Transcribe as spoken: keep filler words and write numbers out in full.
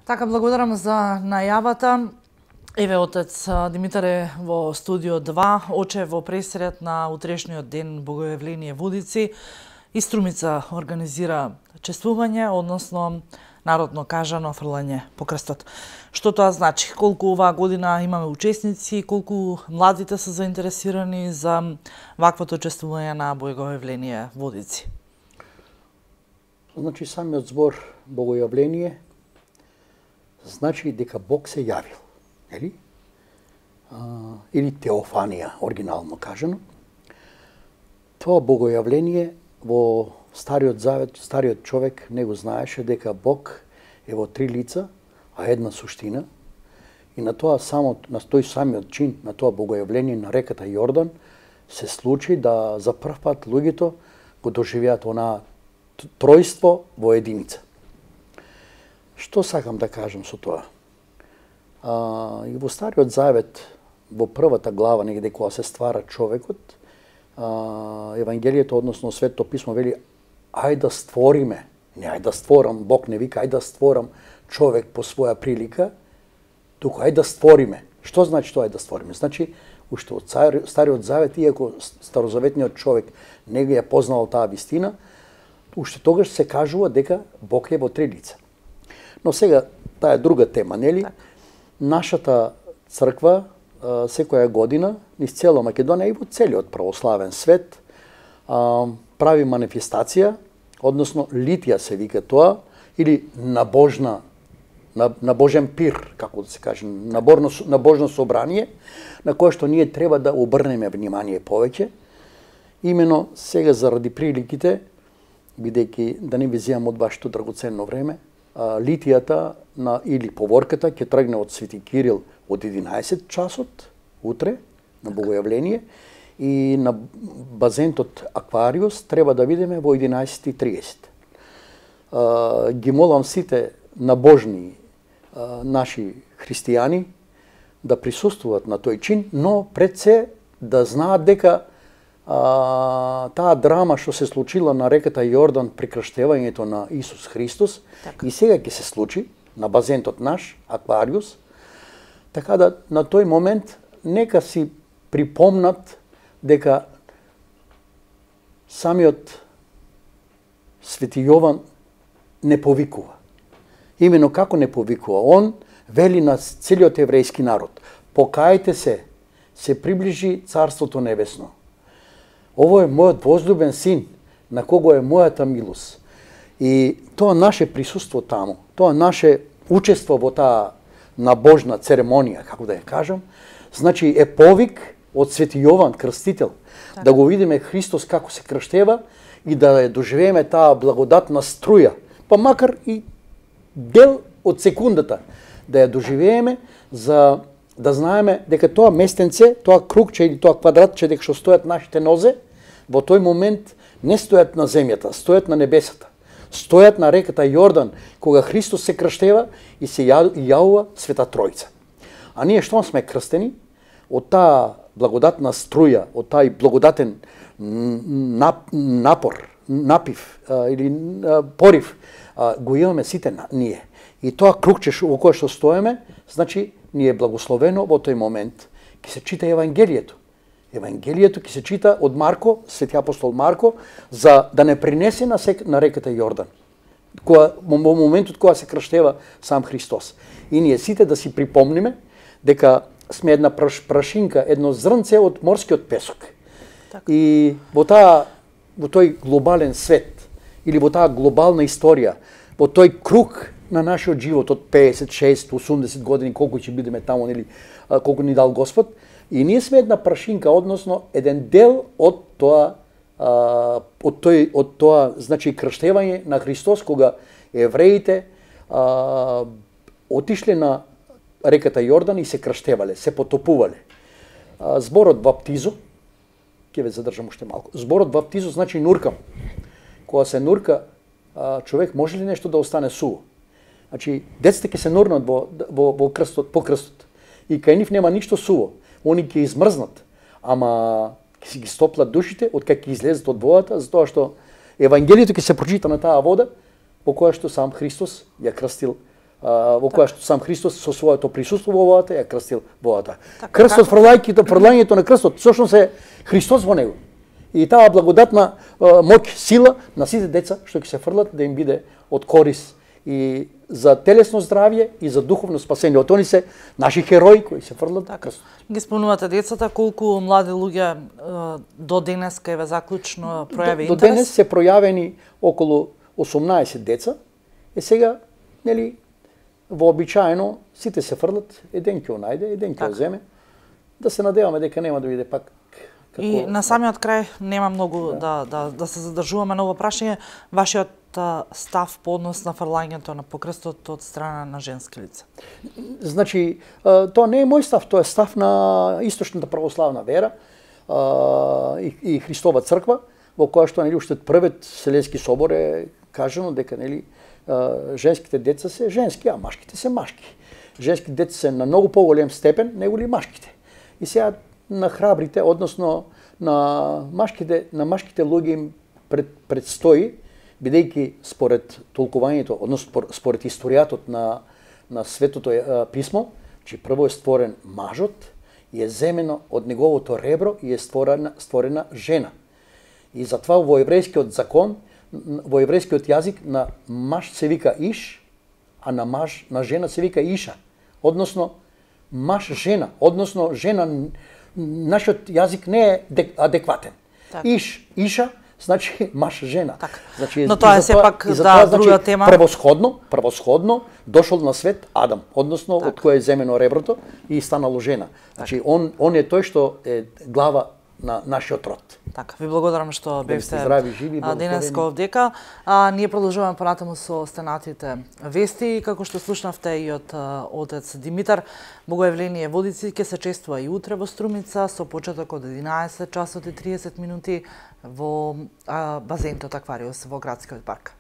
Така, благодарам за најавата. Еве, отец Димитар е во студио два, оче во пресред на утрешниот ден Богојавление Водици. И Струмица организира чествување, односно народно кажано фрлање по крстот. Што тоа значи? Колку оваа година имаме учесници, колку младите се заинтересирани за ваквото чествување на Богојавление Водици? Значи, самиот збор Богојавление значи дека Бог се јавил, нели? А, или теофанија, оригинално кажано. Тоа Богојавление во Стариот Завет, стариот човек не го знаеше дека Бог е во три лица, а една суштина. И на тоа само, на тој самиот чин, на тоа Богојавление на реката Јордан, се случи да за прв пат луѓето го доживеат онаа тројство во единица. Што сакам да кажам со тоа? А, и во Стариот Завет, во првата глава, негде кога се ствара човекот, а, Евангелието, односно Светото писмо вели ај да створиме, не ај да створам, Бог не вика ај да створам човек по своја прилика, туку ај да створиме. Што значи тоа ај да створиме? Значи, уште од Стариот Завет, иако старозаветниот човек не ги е познал таа вистина, уште тогаш се кажува дека Бог е во три лица. Но сега, таа е друга тема, нели? Так. Нашата црква секоја година, низ цела Македонија и во целиот православен свет, прави манифестација, односно литија се вика тоа, или набожна, набожен пир, како да се каже, наборно, набожно собрание, на кое што ние треба да обрнеме внимание повеќе. Имено сега заради приликите, бидејќи да не ви земам од вашето драгоценно време, литијата на, или поворката ќе тргне од Свети Кирил од единаесет часот, утре, на Богојавление, и на базентот Аквариус треба да видиме во единаесет и триесет. Ги молам сите набожни наши христијани да присуствуваат на тој чин, но пред се да знаат дека а, таа драма што се случила на реката Јордан при крштевањето на Исус Христос, така. И сега ќе се случи на базентот наш, Аквариус, така да на тој момент нека си припомнат дека самиот Свети Јован не повикува. Имено како не повикува? Он вели на целиот еврејски народ: покајте се, се приближи Царството Небесно. Ово е мојот возлюбен син, на кого е мојата милост. И тоа наше присуство таму, тоа наше учество во таа набожна церемонија, како да ја кажам, значи е повик од Свети Јован Крстител, так. Да го видиме Христос како се крштева и да ја доживееме таа благодатна струја, па макар и дел од секундата, да ја доживееме за да знаеме дека тоа местенце, тоа кругче или тоа квадратче дека што стојат нашите нозе, во тој момент не стојат на земјата, стојат на небесата. Стојат на реката Јордан, кога Христос се крштева и се јавува Света Тројца. А ние што сме крстени? Од таа благодатна струја, од тај благодатен напор, напив или порив, го имаме сите ние. И тоа кругче во кое што стоеме, значи ни е благословено во тој момент. Ке се чита Евангелието. Евангелието ке се чита од Марко, Свети апостол Марко, за да не принесе на, сек, на реката Јордан, која, во моментот кога се крштева сам Христос. И ние сите да си припомниме дека сме една праш, прашинка, едно зрнце од морскиот песок. Так. И во таа во тој глобален свет или во таа глобална историја, во тој круг на нашиот живот од песет, шест, осумдесет години, колку ќе бидеме таму, или колку ни дал Господ, и ние сме една прашинка, односно еден дел од тоа а, од тој од тоа значи крштевање на Христос, кога евреите а, отишле на реката Јордан и се крштевале, се потопувале. А, зборот баптизо, ќе ве задржам уште малку. Зборот баптизо значи нуркам. Кога се нурка, а, човек може ли нешто да остане суво? Значи, децата ќе се нурнат во, во, во крстот, по крстот. И кај нив нема ништо суво. Они ќе измрзнат, ама ќе си ги стоплат душите од кај ќе излезат од водата, затоа што Евангелието ќе се прочита на таа вода, по која што сам Христос ја крстил во која што сам Христос со своето присуство во водата ја крстил водата. Крстот, фрлајќето, фрлањето на крстот, всушност е Христос во него. И таа благодатна моќ, сила на сите деца што ќе се фрлат да им биде од корис и за телесно здравје и за духовно спасение. Од они се наши херои кои се фрлат на крстот. Ги спомнувате децата, колку млади луѓе до денеска еве заклучно пројави интерес? До денес се пројавени околу осумнаесет деца. Е сега, нели, вообичаено сите се фрлат, еден ќе најде, еден ќе земе. Да се надеваме дека нема да биде пак. Како... И на самиот крај нема многу да, да, да, да се задржуваме на ова прашање. Вашиот став по однос на фрлањето на покрстот од страна на женски лица? Значи, тоа не е мој став, тоа е став на источната православна вера и, и Христова црква, во која што нели уште првиот Вселенски собор е кажано дека нели женските деца се женски, а машките се машки. Женски деца се на многу поголем степен неголи машките. И сега на храбрите, односно на машките, на машките луѓе им пред, предстои, бидејќи според толкувањето, односно според историјатот на на Светото писмо, че прво е створен мажот и е земено од неговото ребро и е створена створена жена. И затоа во еврејскиот закон, во еврејскиот јазик на маж се вика иш, а на маж на жена се вика иша. Односно маж жена, односно жена, нашиот јазик не е адекватен. Так. Иш, иша, значи маж жена. Так. Значи, но тоа е сепак да затоа, друга значи, тема. Превосходно, превосходно дошол на свет Адам, односно так. од кој е земено реброто и станало жена. Значи так. он он е тој што е глава на нашиот род. Така, ви благодарам што бевте здрави, живи, денеска овдека. А, ние продолжуваме понатаму со останатите вести, како што слушнавте и од отец Димитар. Богојавление Водици ќе се чествува и утре во Струмица со почеток од единаесет часот и триесет минути во а, базентот Аквариус во градскиот парк.